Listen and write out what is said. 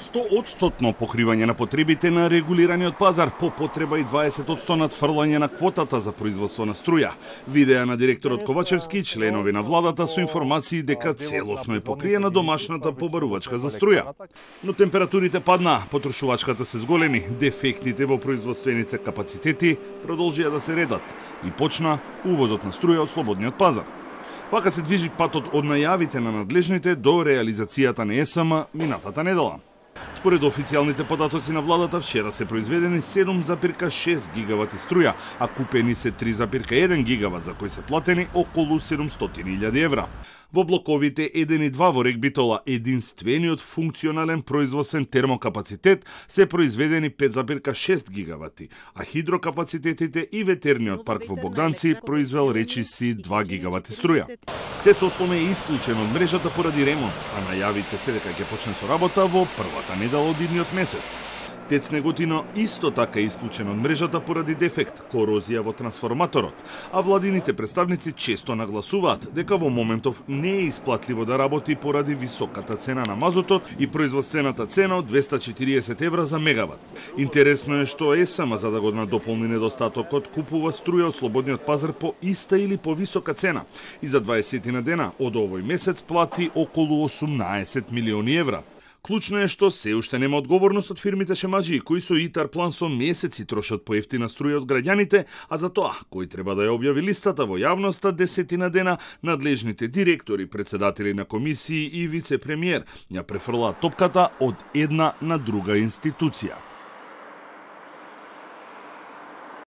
100% покривање на потребите на регулираниот пазар, по потреба и 20% надфрлање на квотата за производство на струја. Видеа на директорот Ковачевски и членови на владата со информации дека целосно е покриена домашната побарувачка за струја. Но температурите падна, потрошувачката се зголеми, дефектите во производствените капацитети продолжија да се редат и почна увозот на струја од слободниот пазар. Вака се движи патот од најавите на надлежните до реализацијата на ЕСМ минатата недела. Според официјалните податоци на владата, вчера се произведени 7,6 гигавати струја, а купени се 3,1 гигават, за кои се платени околу 700.000 евра. Во блоковите 1 и 2 во Регбитола, единствениот функционален производствен термокапацитет, се произведени 5,6 гигавати, а хидрокапацитетите и ветерниот парк во Богданци произвел речиси 2 гигавати струја. ТЕЦ Осломе е исклучен од мрежата поради ремонт, а најавите се дека ќе почне со работа во првата недела од идниот месец. ТЕЦ Неготино исто така е исклучен од мрежата поради дефект, корозија во трансформаторот, а владините представници често нагласуваат дека во моментов не е исплатливо да работи поради високата цена на мазотот и производствената цена од 240 евра за мегават. Интересно е што ЕСМ, за да го надополни недостатокот, купува струја од слободниот пазар по иста или по висока цена и за 20 на дена од овој месец плати околу 18 милиони евра. Клучно е што се уште нема одговорност од фирмите шемаџии кои со ИТАР план со месеци трошат по ефтина струја од граѓаните, а за тоа кој треба да ја објави листата во јавноста 10 на дена, надлежните директори, председатели на комисии и вице-премиер ја префрлаат топката од една на друга институција.